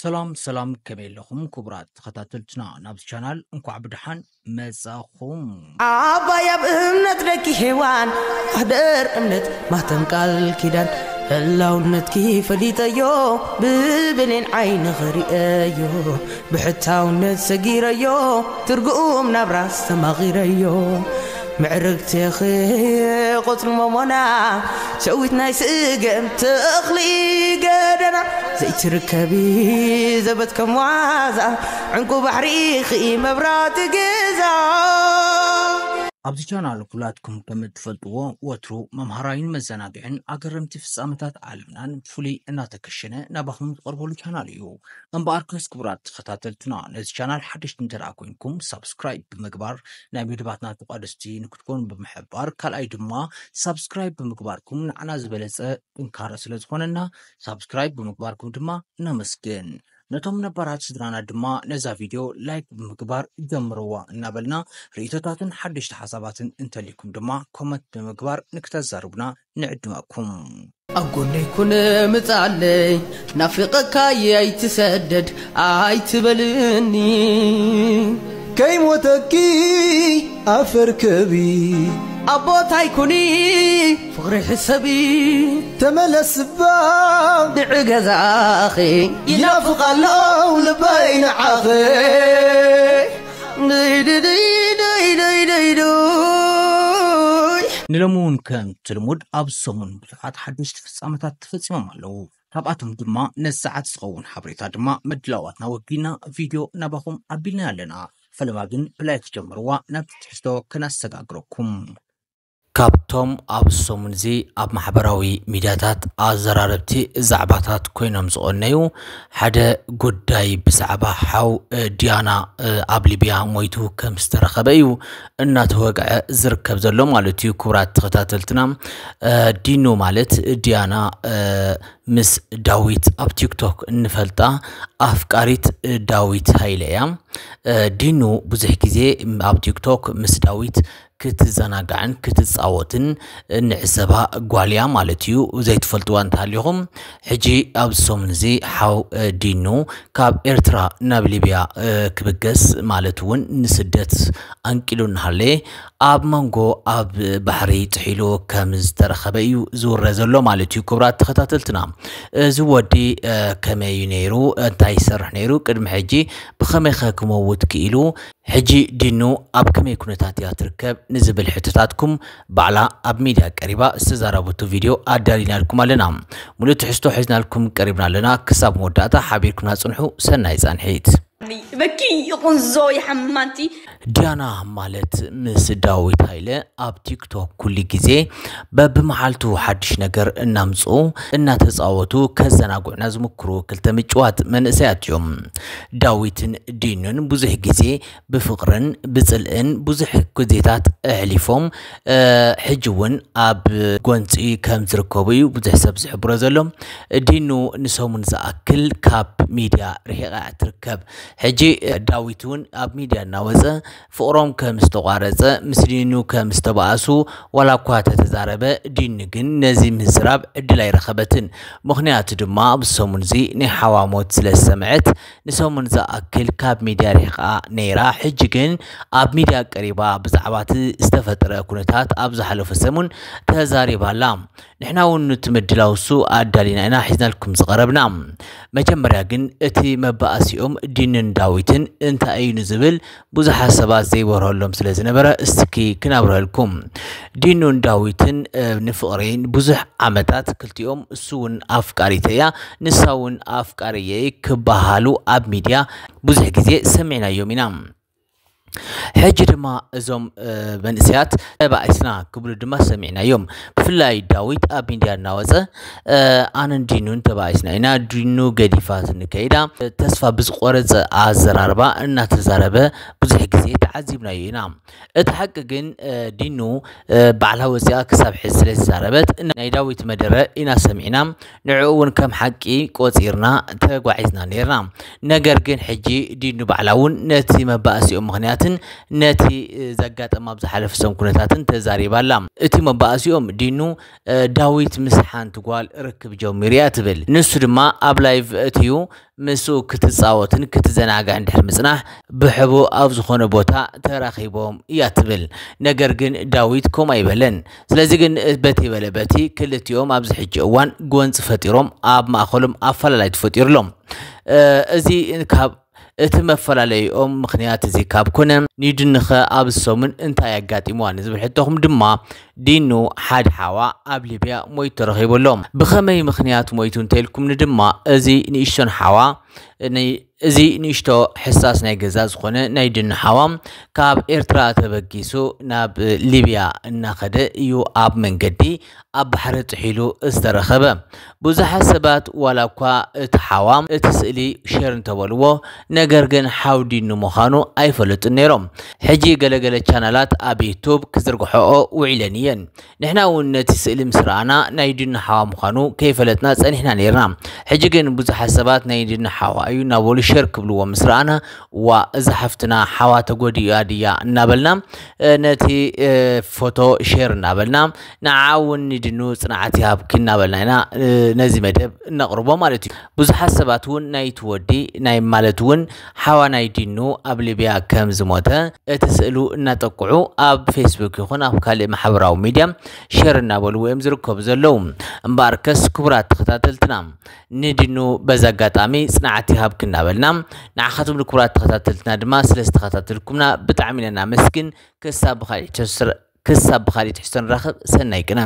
ሰላም ሰላም፣ ከመይ ኣለኹም ክቡራት ተኸታተልትና? ናብዚ ቻናል እንኳዕ ብደሓን መጻኹም። ዓባይ ኣብ እምነት ደቂ ሄዋን፣ ማህደር እምነት ማህተም ቃል ኪዳን፣ ህላውነትኪ ፈሊጠዮ፣ ብብሌን ዓይኒ ኽርእዮ፣ ብሕታውነት ሰጊረዮ፣ ትርጉም ናብራ ኣስተማቒረዮ። ምዕርግቲ ኢኺ ቁጽሪ ሞሞና፣ ሸዊት ናይ ስገም ተኽሊ ገደና፣ ዘይትርከቢ ዘበት ከም ዋዛ፣ ዕንቁ ባሕሪ ኢኺ መብራቲ ገዛ። ኣብዚ ቻናል ኩላትኩም ከም እትፈልጥዎ፣ ወትሩ መምሃራይን መዘናግዕን ኣገረምቲ ፍጻመታት ዓለምናን ብፍሉይ እናተከሸነ ናባኹም ዝቐርበሉ ቻናል እዩ። እምበኣርከስ ክቡራት ተኸታተልትና፣ ነዚ ቻናል ሓደሽቲ እንተ ደኣ ኮይንኩም፣ ሳብስክራይብ ብምግባር ናይ መደባትና ተቋደስቲ ንክትኮኑ ብምሕባር፣ ካልኣይ ድማ ሳብስክራይብ ብምግባርኩም ንዓና ዝበለጸ ጥንካረ ስለ ዝኾነና፣ ሳብስክራይብ ብምግባርኩም ድማ ነመስግን። ነቶም ነባራት ስድራና ድማ ነዛ ቪድዮ ላይክ ብምግባር ጀምርዋ እናበልና፣ ርእይቶታትን ሓደሽቲ ሓሳባትን እንተልይኩም ድማ ኮመንት ብምግባር ንክተዛርቡና ንዕድመኩም። ኣብ ጎነይ ኩን ምጻለይ፣ ናፊቐካ ኣይትሰደድ ኣይትበልኒ። ከይሞተኪ ኣፈር ክቢ። ኣቦታይ ኩኒ ፍቕሪ ሕሰቢ። ተመለስ እባ ንዕ ገዛኺ። ይናፍቕ ኣሎ ልበይ ንዓኺ። ንሎሚ እውን ከምቲ ልሙድ ኣብ ሰሙን ብዙሓት ሓደሽቲ ፍጻመታት ተፈጺሞም ኣለዉ። ካብኣቶም ድማ ነዚ ሰዓት ዝኸውን ሓበሬታ ድማ ምድላዋትና ወጊና ቪድዮ ናባኹም ኣቢልና ኣለና። ፈለማ ግን ብላይክ ጀምርዋ፣ ናብቲ ትሕዝቶ ከናሰጋግረኩም። ካብቶም ኣብ ሰሙን እዚ ኣብ ማሕበራዊ ሚድያታት ኣዘራረብቲ ዛዕባታት ኮይኖም ዝቐነዩ ሓደ ጉዳይ ብዛዕባ ሓው፣ እ፣ ዲያና፣ እ፣ ኣብ ሊብያ ሞይቱ ከም ዝተረኸበ እዩ እናተወግዐ ዝርከብ ዘሎ ማለት እዩ። ክቡራት ተኸታተልትና፣ እ፣ ዲኑ ማለት ዲያና፣ እ፣ ምስ ዳዊት ኣብ ቲክቶክ እንፈልጣ ኣፍቃሪት ዳዊት ሃይለ እያ። እ፣ ዲኑ ብዙሕ ግዜ ኣብ ቲክቶክ ምስ ዳዊት ክትዘናጋዕን ክትጻወትን እንዕዘባ ጓል እያ ማለት እዩ። ዘይትፈልጥዋ እንተሃሊኹም፣ ሕጂ ኣብዚ ሰሙን እዚ ሓው፣ እ፣ ዲኑ ካብ ኤርትራ ናብ ሊብያ፣ እ፣ ክብገስ ማለት እውን ንስደት ኣንቂሉ እናሃለየ ኣብ መንጎ ኣብ ባሕሪ ጥሒሉ ከም ዝተረኸበ እዩ ዝውረ ዘሎ ማለት እዩ። ክቡራት ተኸታተልትና፣ እዚ ወዲ፣ እ፣ ከመይ እዩ ነይሩ? እንታይ ይሰርሕ ነይሩ? ቅድሚ ሕጂ ብኸመይ ኸ ክመውት ክኢሉ? ሕጂ ዲኑ ኣብ ከመይ ኩነታት እያ ትርከብ ንዝብል ሕቶታትኩም ባዕላ ኣብ ሚድያ ቀሪባ ዝተዛረበቱ ቪድዮ ኣዳሊናልኩም ኣለና። ሙሉእ ትሕዝቶ ሒዝናልኩም ቀሪብና ኣለና። ክሳብ መወዳእታ ሓቢርኩምና ጽንሑ። ሰናይ ጻንሒት። በኪ ይቑንዞ ይሓማንቲ። ዲያና ማለት ምስ ዳዊት ሃይለ ኣብ ቲክቶክ ኩሉ ግዜ በብመዓልቱ ሓድሽ ነገር እናምጽኡ እናተጻወቱ ከዘናግዑና ዝምክሩ ክልተ ምጭዋት መንእሰያት እዮም። ዳዊትን ዲኑን ብዙሕ ግዜ ብፍቕርን ብጽልእን ብዙሕ ግዜታት ኣሕሊፎም፣ እ፣ ሕጂ እውን ኣብ ጎንፂ ከም ዝርከቡ እዩ ብዙሕ ሰብ ዝሕብሮ ዘሎ። ዲኑ ንሰሙን ዝኣክል ካብ ሚድያ ርሒቓ እያ ትርከብ። ሕጂ ዳዊት እውን ኣብ ሚድያ እናወፀ ፍቕሮም ከም ዝተቋረፀ፣ ምስ ዲኑ ከም ዝተባእሱ ዋላ እኳ ተተዛረበ፣ ዲኑ ግን ነዚ ምዝራብ ዕድል ኣይረኸበትን። ምኽንያቱ ድማ ኣብዚ ሰሙን እዚ ናይ ሓዋ ሞት ስለ ዝሰምዐት ንሰሙን ዝኣክል ካብ ሚድያ ርሒቓ ነይራ። ሕጂ ግን ኣብ ሚድያ ቀሪባ ብዛዕባ እቲ ዝተፈጠረ ኩነታት ኣብ ዝሓለፈ ሰሙን ተዛሪባ ኣላ። ንሕና እውን ነቲ ምድላው እሱ ኣዳሊና ኢና ሒዝናልኩም ዝቐረብና። መጀመርያ ግን እቲ መባእሲኦም ዲኑን ዳዊትን እንታይ እዩ ንዝብል ብዙሓት ሰባት ዘይበርሀሎም ስለ ዝነበረ እስኪ ክነብረልኩም። ዲኑን ዳዊትን፣ እ፣ ንፍቕሪ ብዙሕ ዓመታት ክልቲኦም፣ እሱ እውን ኣፍቃሪተይ እያ፣ ንሳ እውን ኣፍቃሪየይ ክበሃሉ ኣብ ሚድያ ብዙሕ ግዜ ሰሚዕናዮም ኢና። ሕጂ ድማ እዞም፣ እ፣ መንእሰያት ተባኢስና ክብሉ ድማ ሰሚዕናዮም። ብፍላይ ዳዊት ኣብ ሚድያ እናወፀ፣ እ፣ ኣነን ዲኑን ተባኢስና ኢና፣ ዲኑ ገዲፋትኒ ከይዳ፣ ተስፋ ብዝቆረፀ ኣዘራርባ እናተዛረበ ብዙሕ ግዜ ተዓዚብናዮ ኢና። እቲ ሓቂ ግን፣ እ፣ ዲኑ፣ እ፣ ባዕላ ወፂኣ ክሳብ ሕዚ ስለ ዝዛረበት፣ ናይ ዳዊት መደረ ኢና ሰሚዕና፣ ንዕኡ እውን ከም ሓቂ ቆፂርና ተጓዒዝና ነይርና። ነገር ግን ሕጂ ዲኑ ባዕላ እውን ነቲ መባእሲኦም ምኽንያት ኩነታትን ነቲ ዘጋጠማ ኣብ ዝሓለፈ ሰሙን ኩነታትን ተዛሪባ ኣላ። እቲ መባእሲኦም ዲኑ ዳዊት ምስ ሓንቲ ጓል ርክብ ጀሚሩ እያ ትብል። ንሱ ድማ ኣብ ላይቭ እትዩ ምስኡ ክትጻወትን ክትዘናጋዕን ድሕሪ ምጽናሕ ብሕቡእ ኣብ ዝኾነ ቦታ ተራኺቦም እያ ትብል። ነገር ግን ዳዊት ከምኡ ኣይበለን። ስለዚ ግን በቲ በለ በቲ ክልቲኦም ኣብዚ ሕጂ እዋን ጎንፂ ፈጢሮም ኣብ ማእኸሎም ኣፈላላይ ተፈጢሩሎም። እዚ ካብ እቲ መፈላለይኦም ምኽንያት እዚ ካብ ኮነ ኒድንኸ ኣብ ሰሙን እንታይ ኣጋጢምዋ ንዝብል ሕቶኹም ድማ ዲኑ ሓደ ሓዋ ኣብ ሊብያ ሞይቱ ተረኺቡ ኣሎ። ብኸመይ ምኽንያት ሞይቱ እንተኢልኩምኒ ድማ እዚ ንእሽቶን ሓዋ እዚ ንእሽቶ ሕሳስ ናይ ገዛ ዝኾነ ናይ ድኑ ሓዋ ካብ ኤርትራ ተበጊሱ ናብ ሊብያ እናኸደ እዩ። ኣብ መንገዲ ኣብ ባሕሪ ጥሒሉ ዝተረኸበ። ብዙሓት ሰባት ዋላ እኳ እቲ ሓዋ እቲ ስእሊ ሸር እንተበልዎ፣ ነገር ግን ሓው ዲኑ ምዃኑ ኣይፈለጡን ነይሮም። ሕጂ ገለገለ ቻናላት ኣብ ዩቱብ ክዝርግሖኦ ውዒለን እየን። ንሕና እውን ነቲ ስእሊ ምስ ረኣና ናይ ዲኑ ሓዋ ምዃኑ ከይፈለጥና ጸኒሕና ነይርና። ሕጂ ግን ብዙሓት ሰባት ናይ ዲኑ ሓዋ እዩ እናበሉ ሸር ክብልዎ ምስ ረኣና፣ ዋ እዛ ሓፍትና ሓዋ ተጎዲኣ ድያ እናበልና ነቲ ፎቶ ሸር እናበልና ንዓ እውን ንዲኑ ጽንዓት ይሃብኪ እናበልና ኢና ነዚ መደብ እነቕርቦ ማለት እዩ። ብዙሓት ሰባት እውን ናይቲ ወዲ ናይ ማለት እውን ሓዋ ናይ ዲኑ ኣብ ሊብያ ከም ዝሞተ እቲ ስእሉ እናጠቅዑ ኣብ ፌስቡክ ይኹን ኣብ ካልእ ማሕበራዊ ሚድያ ሸር እናበልዎ እዮም ዝርከቡ ዘለዉ። እምበኣርከስ ክቡራት ተኸታተልትና ንዲኑ በዚ ኣጋጣሚ ጽንዓት ይሃብኪ እናበልና ንዓኻትኩም ንክቡራት ተኸታተልትና ድማ ስለ ዝተኸታተልኩምና ብጣዕሚ ኢና እናመስግን። ክሳብ ብኻሊእ ትሕዝቶ ንራኸብ ሰናይ ቅነ።